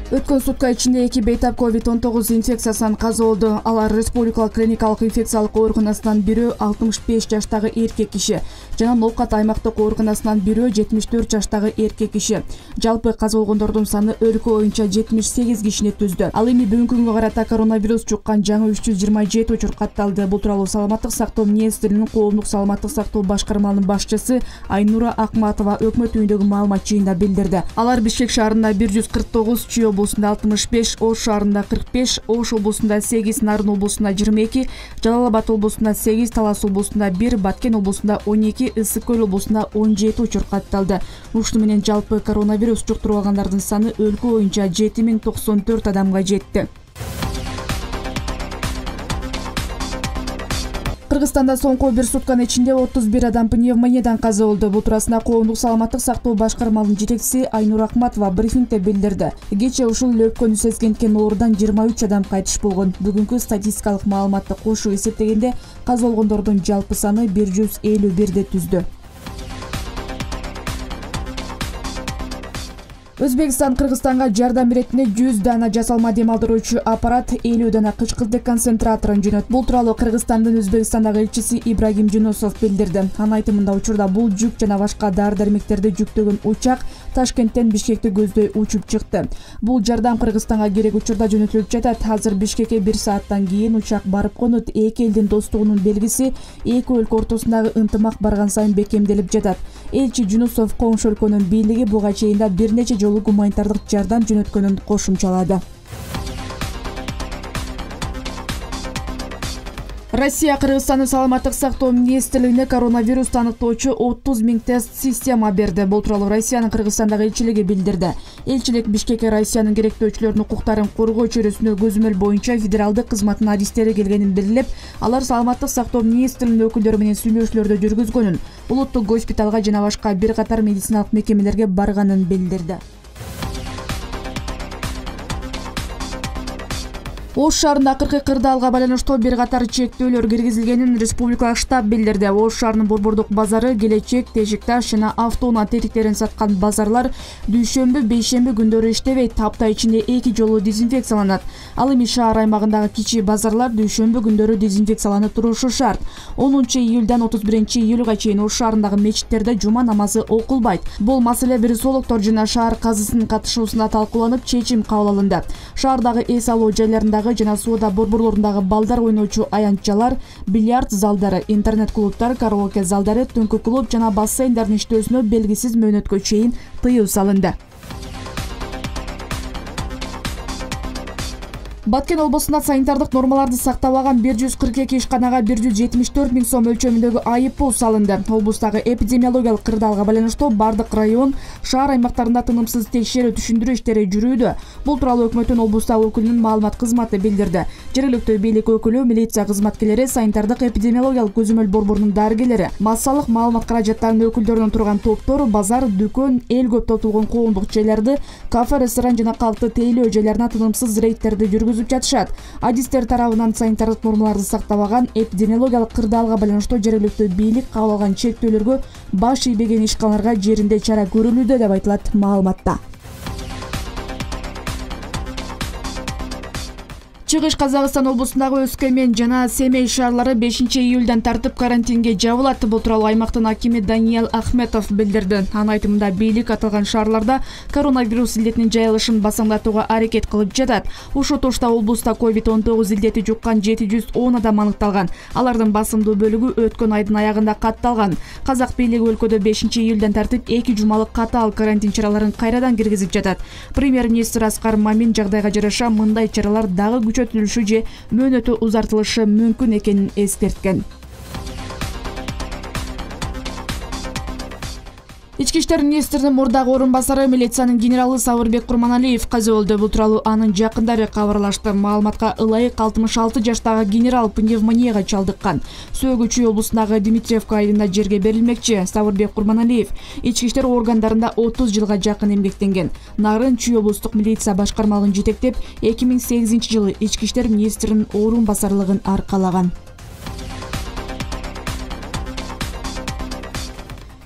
Өткөн сутка ичинде 2 бейтап COVID-19 инфекциясынан каза болду. Алар Республикалык клиникалык инфекциялык ооруканасынан бирөө 65 жаштагы эркек киши жана Ноокат аймактык ооруканасынан бирөө 74 жаштагы эркек киши. Жалпы каза болгондордун саны өлкө боюнча 78 кишини түздү. Ал эми бүгүнкү күнгө карата коронавирус жуккан жаңы 327 учур катталды. Бул тууралуу Саламаттык сактоо министринин коомдук саламаттык сактоо башкармалынын башчысы Айнура Акматова өкмөт үйүндөгү маалымат жыйында билдирди. Алар Бишкек шаарында 149, Чүй облусунда 65, Ош шаарында 45, Ош облусунда 8, Нарын облусунда 22, Жалал Абад облусунда 8, Талас облусунда 1, Баткен облусунда 12, Ысык Көл облусунда 17 учур катталды. Ушуну менен жалпы коронавирус жуктуруп алгандардын саны өлкө боюнча 7094 адамга жетти. Кыргызстанда соңку бир сутканын ичинде 31 адам пневмониядан каза болду. Бул туурасында коомдук саламаттык сактоо башкармалынын жетекчиси Айнура Акматова брифингде билдирди. Кечээ ушул өпкөнү сезгенткен оорудан 23 адам кайтыш болгон. Бүгүнкү статистикалык маалыматты кошуп эсептегенде каза болгондордун жалпы саны 151 түздү. Өзбекстан Кыргызстанга жардам иретине 100 дана жасалма дем алдыруучу аппарат, 50 дана кычкыртык деконцентраторун жөнөттү. Бул тууралуу Кыргызстандын Өзбекстандагы элчиси Ибрагим Жунусов билдирди. Анын айтымында учурда бул жүк жана башка дары-дармектерди жүктөгөн учак Ташкенттен Бишкекти көздөй учуп чыкты. Бул жардам Кыргызстанга керек учурда жөнөтүлүп жатат. Азыр Бишкекке 1 сааттан кийин учак барып конот. Эки элдин достугунун белгиси, эки өлкө ортосундагы ынтымак барган сайын бекемделип жатат. Элчи Жунусов коңшу өлкөнүн бийлиги буга чейин да бир нече жолу гуманитардык жардам жөнөткөнүн кошумчалады. Россия Кыргызстандын саламаттык сактоо министрлигине коронавирус аныктоочу 30 000 тест система берди. Бул тууралуу Россиянын Кыргызстандагы элчилиги билдирди. Элчилик Бишкекке Россиянын керектөөчүлөрүнүн укуктарын коргоо чөйрөсүнө көзөмөл боюнча федералдык кызматтын адистери келгенин белгилеп, алар саламаттык сактоо министринин өкүлдөрү менен сүйлөшүүлөрдү жүргүзгөнүн, улуттук госпиталга жана башка бир катар медициналык мекемелерге барганын билдирди. Ош шаарында 40 кырдаалга байланыштуу бир катар чектөөлөр киргизилгенин республикалык штаб билдирди. Ош шаарынын Борбордук базары, Келечек, Тешик-Таш жана автоунаа тетиктерин саткан базарлар дүйшөмбү, бейшемби күндөрү иштебейт. Апта ичинде 2 жолу дезинфекцияланат. Ал эми шаар аймагындагы кичи базарлар дүйшөмбү күндөрү дезинфекцияланып турушу шарт. 10-июлдан 31-июлга чейин Ош шаарындагы мечиттерде жума намазы окулбайт. Бул маселе вирусологдор жана шаар казысынын катышуусунда талкууланып, чечим кабыл алынды. Шаардагы эс алуу жайларындагы жана соода борборлорундагы балдар ойноочу аянтчалар, бильярд залдары, интернет-клубтар, караоке залдары, түнкү клуб жана бассейндердин иштөөсүнө белгисиз мөөнөткө чейин тыюу салынды. Баткен облусунда санитардык нормаларды сактабаган 142 ишканага 174 000 сом өлчөмүндөгү айыппул салынды. Облустагы эпидемиологиялык кырдаалга байланыштуу бардык район, шаар аймактарында тынымсыз текшерүү түшүндүрүү иштери жүрүүдө. Бул тууралуу өкмөттүн облустагы өкүлүнүн маалымат кызматы билдирди. Жергиликтүү бийлик өкүлү, милиция кызматкерлери, санитардык эпидемиологиялык көзөмөл борборунун дарыгерлери, массалык маалымат каражаттарынын өкүлдөрүнөн турган топтор базар, дүкөн, эл көп тотулгон коомдук жайларды, кафе, ресторан жана калкты тейлөө жайларына тынымсыз рейдтерди жүргүзүп жатышат. Адистер тарабынан санитардык нормаларды сактабаган эпидемиологиялык кырдаалга байланыштуу жергиликтүү бийлик кабыл алган чектөөлөргө баш ийбеген ишканаларга жеринде чара көрүлүүдө деп айтылат маалыматта. Чыгыш Казакстан облусундагы Өскөмен жана Семей шаарлары 5-июлдан тартып карантинге жабылат. Бул тууралуу аймактын акими Даниэл Ахметов билдирди. Анын айтымында бийлик аталган шаарларда коронавирус илдетинин жайылышын басаңдатууга аракет кылып жатат. Ушул тушта облуста COVID-19 илдети жуккан 710 адам аныкталган. Алардын басымдуу бөлүгү өткөн айдын аягында катталган. Казак бийлиги өлкөдө 5-июлдан тартып 2 жумалык катаал карантин чараларын кайрадан киргизип жатат. Премьер-министр Аскар Мамин жагдайга жараша мындай чаралар дагы күчөтүлүшү же мөөнөтү узартылышы мүмкүн экенин эскерткен. Ички иштер министринин мурдагы орун басары милициянын генералы Сабырбек Курманалиев каза болду. Бул тууралуу анын жакындары кабарлашты. Маалыматка ылайык 66 жаштагы генерал пневмонияга чалдыккан. Сөөгү Чүй облусундагы Дмитриевка айылында жерге берилмекчи. Сабырбек Курманалиев ички иштер органдарында 30 жылга жакын эмгектенген. Нарын Чүй облустук милиция башкармалыгын жетектеп, 2008-жылы ички иштер министринин орун басарлыгын аркалаган.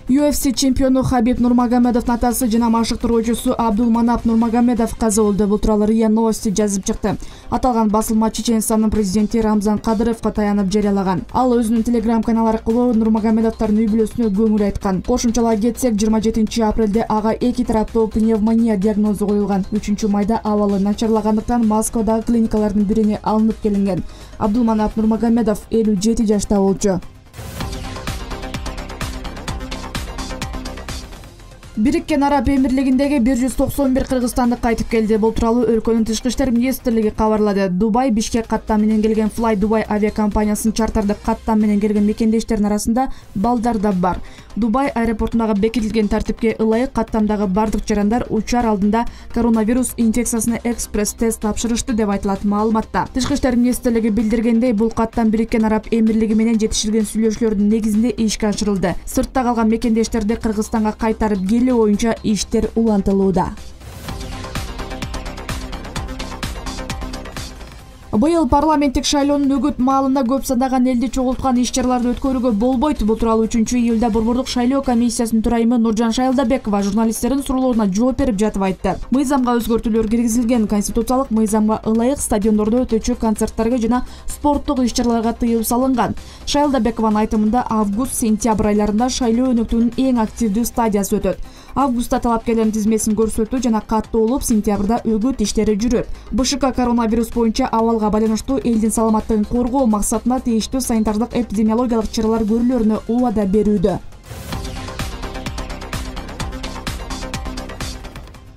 UFC чемпиону Хабиб Нурмагомедовдун атасы жана машыктыруучусу Абдулманап Нурмагомедов каза болду. Бул тууралуу РИА Новости жазып чыкты. Аталган басылма Чеченстандын президенти Рамзан Кадыровго таянып жарыялаган. Ал өзүнүн телеграм каналы аркылуу Нурмагомедовдордун үй бүлөсүнө көңүл айткан. Кошумчалай кетсек, 27 апрелде ага 2 тараптуу пневмония диагнозу коюлган. 3 майда абалы начарлагандыктан Москвадагы клиникалардын бирине алынып келинген. Абдулманап Нурмагомедов 57 жашта болчу. Бириккен Араб Эмирлигиндеги 191 кыргызстандык кайтып келди. Бул тууралуу өлкөнүн тышкы иштер министрлиги кабарлады. Дубай Бишкек каттам менен келген Fly Dubai авиакомпаниясынын чартардык каттам менен келген мекендештеринин арасында балдар да бар. Дубай аэропортундагы бекитилген тартипке ылайык каттамдагы бардык жарандар учар алдында коронавирус инфекциясына экспресс-тест тапшырышты деп айтылат маалыматта. Тышкы иштер министрлиги билдиргендей, бул каттам Бириккен Араб Эмирлиги менен жетишилген сүйлөшүүлөрдүн негизинде ишке ашырылды. Сыртта калган мекендештерди Кыргызстанга кайтарып боюнча иштер улантылууда. Быйыл парламенттик шайлоонун өгүт маалында көп сандаган элди чогулткан иш-чараларды өткөрүүгө болбойт. Бул тууралуу 3-июлда Борбордук шайлоо комиссиясынын төрайымы Нуржан Шайлдабекова журналисттердин суроолоруна жооп берип жатып айтты. Мыйзамга өзгөртүүлөр киргизилген. Конституциялык мыйзамга ылайык стадиондордо өтүүчү концерттерге жана спорттук иш-чараларга тыюу салынган. Шайлдабекованын айтымында август-сентябрь айларында шайлоо өнөктүгүнүн эң активдүү стадиясы өтөт. Августта талапкерлердин тизмесин көрсөтүү жана каттоолуп, сентябрда өгүт иштери жүрөт. БШК коронавирус боюнча абалга байланыштуу элдин саламаттыгын коргоо максатында тийиштүү санитардык эпидемиологиялык чаралар көрүлөрүнө убада берүүдө.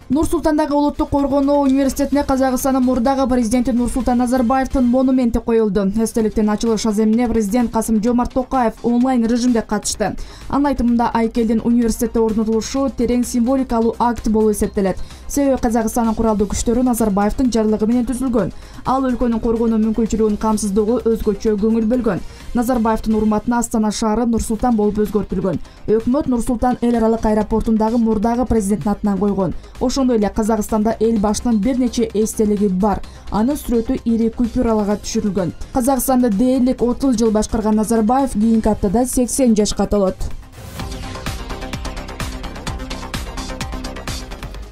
Нур-Султандагы Улуттук коргонуу университетине Казакстандын мурдагы президенти Нурсултан Назарбаевдин монументи коюлду. Эстеликтин ачылыш аземине президент Касым-Жомарт Токаев онлайн режимде катышты. Анын айтымында айкелдин университетте орнотулушу терең символикалуу акт болуп эсептелет. Себеби Казакстандын куралдуу күчтөрү Назарбаевдин жарлыгы менен түзүлгөн. Ал өлкөнүн коргонуу мүмкүнчүлүгүн камсыздоого өзгөчө көңүл бөлгөн. Назарбаевдин урматына Астана шаары Нур-Султан болуп өзгөртүлгөн. Өкмөт Нур-Султан эл аралык аэропортундагы мурдагы президенттин атынан койгон. Ошондой эле Казакстанда эл башынын бир нече эстелиги бар. Анын сүрөтү ири купюраларга түшүрүлгөн. Казакстанды дээрлик 30 жыл башкарган Назарбаев кийинки аптада 80 жашка толот.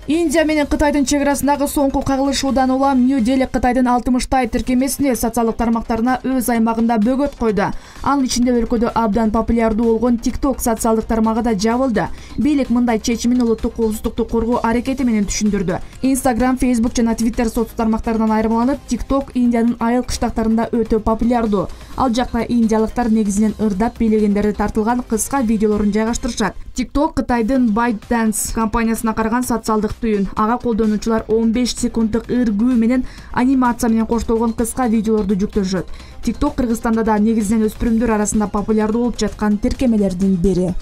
Индия менен Кытайдын чек арасындагы соңку кагылышуудан улам Нью-Дели Кытайдын 60 тиркемесине социалдык тармактарына өз аймагында бөгөт койду. Анын ичинде өлкөдө абдан популярдуу болгон TikTok социалдык тармагы да жабылды. Бийлик мындай чечимин улуттук коопсуздукту коргоо аракети менен түшүндүрдү. Instagram, Facebook жана Twitter соцсуз тармактарынан айырмаланып, TikTok Индиянын айыл кыштактарында өтө популярдуу. Ал жакта индиялыктар негизинен ырдап бийлегендери тартылган кыска видеолорун жайгаштырышат. TikTok Кытайдын ByteDance компаниясына караган социалдык түйүн. Ага колдонуучулар 15 секунддук ыргүү менен анимация менен коштолгон кыска видеолорду жүктөшөт. TikTok Кыргызстанда да негизинен өспүрүмдөр арасында популярдуу болуп жаткан тиркемелердин бири.